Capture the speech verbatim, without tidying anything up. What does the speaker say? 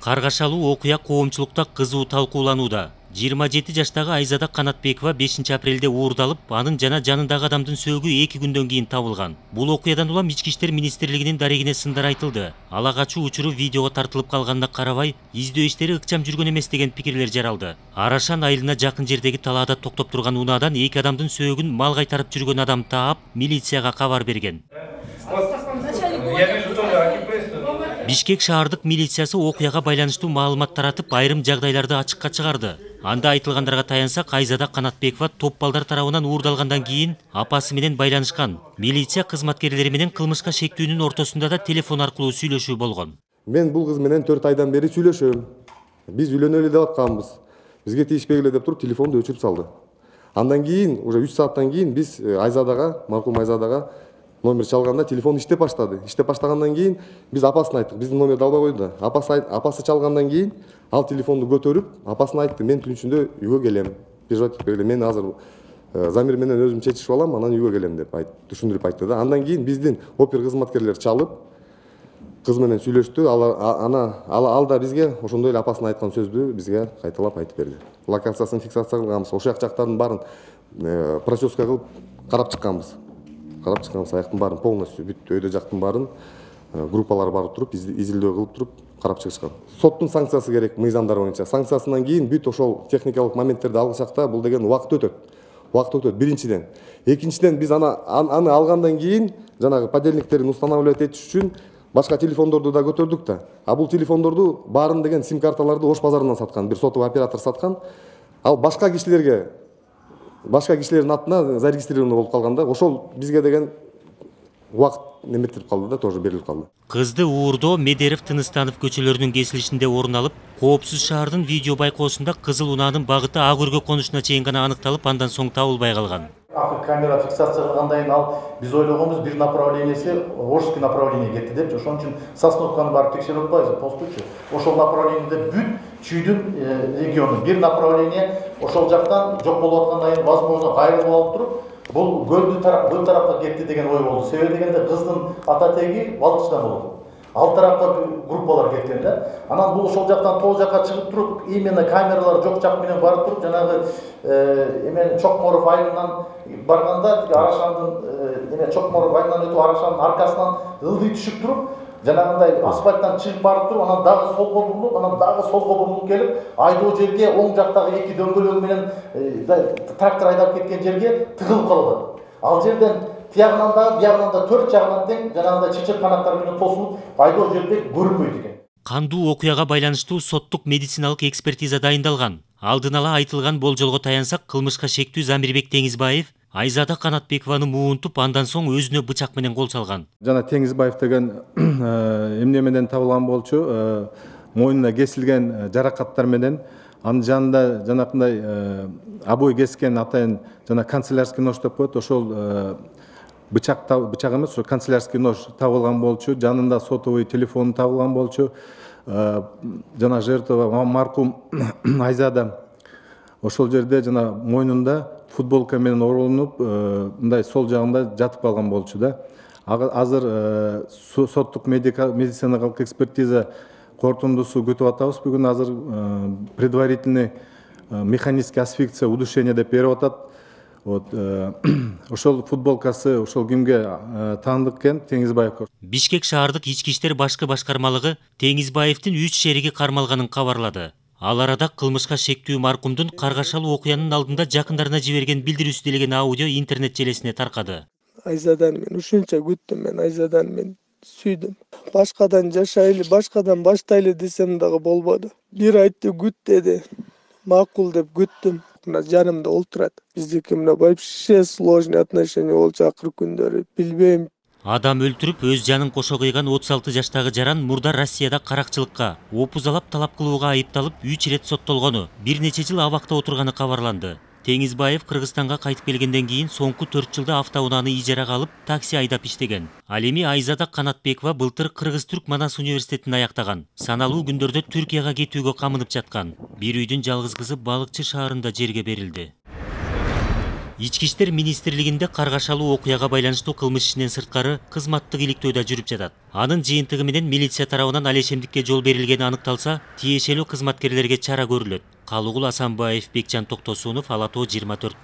Каргашалуу окуя коомчулукта кызуу талкууланууда. жыйырма жети жаштагы Айзада Канатбекова бешинчи апрелде уурдалып, анын жана жанындагы адамдын сөөгү эки күндөн кийин табылган. Бул окуядан улам Ички иштер министрлигинин дарегине сындар айтылды. Ала качуу учуру видеого тартылып калганына карабай, издөө иштери ыкчам жүргөн эмес деген пикирлер жаралды. Арашан айылына жакын жердеги талаада токтоп турган унаадан эки адамдын сөөгүн мал кайтарып жүргөн адам таап, милицияга кабар берген. Бишкек шаардык милициясы окуяга байланыштуу маалымат таратып, айрым жагдайларды ачыкка чыгарды. Анда айтылгандарга таянсак, Айзада Канатбекова топ балдар тарабынан уурдалгандан кийин апасы менен байланышкан. Милиция кызматкерлери менен кылмышка шектүүнүн ортосунда да телефон аркылуу сүйлөшүү болгон. Мен бул кыз менен төрт айдан бери сүйлөшөм. Биз үйлөнөлү деп атканбыз. Бизге тийишпегиле деп туруп телефонду өчүрүп салды. Андан кийин уже үч сааттан кийин биз Айзадага, маркум Айзадага номер чалганда телефон иштеп баштады. Иштеп баштагандан кийин биз апасына айттык. Биздин номерди албай койду да. Апасы апасы чалгандан кийин ал телефонду көтөрүп, апасына айтты: "Мен түн ичинде үйгө келем. Переживать этпегиле. Мен азыр замир менен өзүм чечишип алам, анан үйгө келем" деп айт, түшүндүрүп айтты да. Андан кийин биздин опер кызматкерлер чалып, кыз менен сүйлөштү. Ал ана ал да бизге ошондой эле апасына айткан сөздү бизге кайталап айтып берди. Локациясын фиксация кылганбыз. Ошол жактардын баарын проческа кылып карап чыкканбыз. Карап чыкканбыз, аяктын баарын полностью бүт өйдө жактын баарын группалар барып туруп, изилдөө кылып туруп карап чыгышкан. Соттун санкциясы керек мыйзамдар боюнча. Санкциясынан кийин бүт ошол техникалык моменттерди алгычакта бул деген убакыт өтөт. Убакыт өтөт биринчиден. Экинчиден биз аны аны алгандан кийин жанагы подельниктерин устанавливать этиш үчүн башка телефондорду да көтөрдүк да. А бул телефондорду баарын деген сим карталарды Ош базарынан саткан, бир сотовый оператор саткан. Ал башка кишилерге башка кишилердин атына зарегистрировано болуп калганда, ошол бизге деген убакыт неметип калды да, тоже берилип калды. Кызды уурдоо Медерев Тыныстанов көчөлөрүнүн кесилишинде орун алып, Коопсуз шаардын видео байкоосунда кызыл унаанын багыты Ак өргө конушуна чейин гана аныкталып, андан соң табылбай калган. Акы камера фиксация кылгандан кийин ал биз ойлогонбуз бир направленияси Ошский направление кетти депчи. Ошон үчүн Сосновканы барып текшерип атпайбызбы, постучу. Ошол направлениеде бүт Чүйдүн региону бир направление ошол жактан жок болуп аткандан кийин возможно кайрылып алып туруп, бул көлдү тарап, бул тарапка кетти деген ой болду. Себеби дегенде кыздын ата теги Балыкчыдан болот. Ал тарапка группалар кеткен да. Анан бул ошол жактан тол жакка чыгып туруп, именно камералар жок жак менен барып туруп, жанагы эмен Чокморов айылынан барганда, Арашандын эме Чокморов айылынан өтүп Арашандын аркасынан ылдый түшүп туруп, жанагындай асфальттан чыгып барып туруп, анан дагы солго бурулуп, анан дагы солго бурулуп келип, айдоо жерге оң жактагы эки дөңгөлөк менен трактор айдап кеткен жерге тыгылып калган. Ал жерден тиягынан да, биягынан да төрт жагынан тең жанагындай чечек канаттар менен тосулуп, айдоо жерде көрүнбөйт экен. Кандуу окуяга байланыштуу соттук медициналык экспертиза дайындалган. Алдын ала айтылган болжолго таянсак, кылмышка шектүү Замирбек Теңизбаев Айзада Канатбекованы муунтуп, андан соң өзүнө бычак менен кол салган. Жана Теңизбаев деген эмне менен табылган болчу, мойнуна кесилген жаракаттар менен, анын жанында жанакындай обой кескен атайын жана канцелярский нож деп коет, ошол бычак бычак эмес, ошо канцелярский нож табылган болчу, жанында сотовый телефон табылган болчу. Жана жертва маркум Айзада ошол жерде жана мойнунда футболка менен оролунуп, мындай сол жагында жатып калган болчу да. Азыр соттук медициналык экспертиза корутундусу күтүп атабыз. Бүгүн азыр предварительный механический асфиксия, удушение деп берип атат. Вот ошол футболкасы ошол кимге таандык экен, Теңизбаевке. Бишкек шаардык ички иштер башкы башкармалыгы Теңизбаевдин үч шериги кармалганын кабарлады. Ал арада кылмышка шектүү маркумдун Каргашалуу окуянын алдында жакындарына жиберген билдирүүсү делеген аудио интернет желесине таркады. Айзадан мен ушунча күттүм, мен Айзадан мен сүйдүм. Башкадан жашайлы, башкадан баштайлы десем дагы болбоду. Бир айтты күт деди. Макул деп күттүм. Мына жанымда олтурат. Биздики мына вообще сложный отношения болчу акыркы күндөрү. Билбейм. Адам өлтүрүп, өз жанын кошо кыйган отуз алты жаштагы жаран мурда Россияда каракчылыкка, опузалап талап кылууга айыпталып, үч ирет соттолгону, бир нече жыл абакта отурганы кабарланды. Теңизбаев Кыргызстанга кайтып келгенден кийин соңку төрт жылда автоунааны ижарага алып, такси айдап иштеген. Ал эми Айзада Канатбекова былтыр Кыргыз-Түрк Манас университетин аяктаган. Саналуу күндөрдө Түркияга кетүүгө камынып жаткан. Бир үйдүн жалгыз кызы Балыкчы шаарында жерге берилди. Ички иштер министрлигинде каргашалуу окуяга байланыштуу кылмыш ишинен сырткары кызматтык иликтөө да жүрүп жатат. Анын жыйынтыгы менен милиция тарабынан алешемдикке жол берилгени аныкталса, тиешелүү кызматкерлерге чара көрүлөт. Калыгул Асанбаев, Бекжан Токтосунов, Ала Тоо жыйырма төрт.